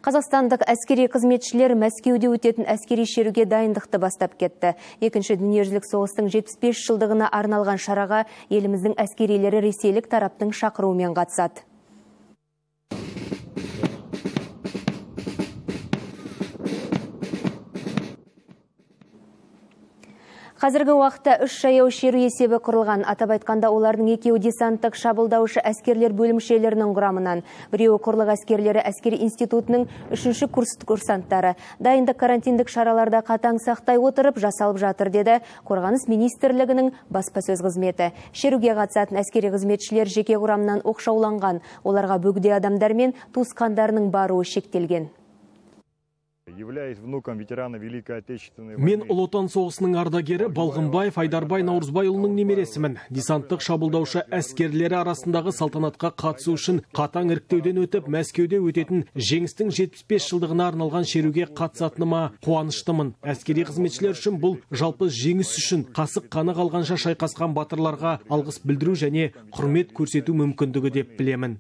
Қазақстандық әскери қызметшілер Мәскеуде өтетін әскери шеруге дайындықты бастап кетті. Екінші дүниежүзілік соғыстың 75 жылдығына арналған шараға еліміздің әскерилері ресейлік тараптың шақыруымен қатысады. Қазіргі уақытта 3 жаяу шеру есебі құрылған. Атап айтқанда олардың екеуі десанттық шабуылдаушы әскерлер бөлімшелерінің құрамынан. Біреуі құрлық әскерлері әскери институтының 3-ші курс курсанттары. Дайындық карантиндік шараларда қатаң сақтай отырып жасалып жатыр, деді Қорғаныс министрлігінің баспасөз қызметі. Шеруге қатысатын әскери қызметшілер жеке құрамнан оқшауланған. Оларға бөгде адамдар мен туысқандарының баруы шектелген. Мен Ұлы Отан соғысының ардагері Балғынбаев Айдарбай Наурызбайұлының немересімін. Десанттық шабуылдаушы әскерлері арасындағы салтанатқа қатысу үшін қатаң іріктеуден өтіп, Мәскеуде өтетін жеңістің 75 жылдығына арналған шеруге қатысатыныма қуаныштымын. Әскери қызметшілер үшін бұл жалпы жеңіс үшін қасық қаны қалғанша шайқасқан батырларға алғыс білдіру және құрмет көрсету мүмкіндігі деп білемін.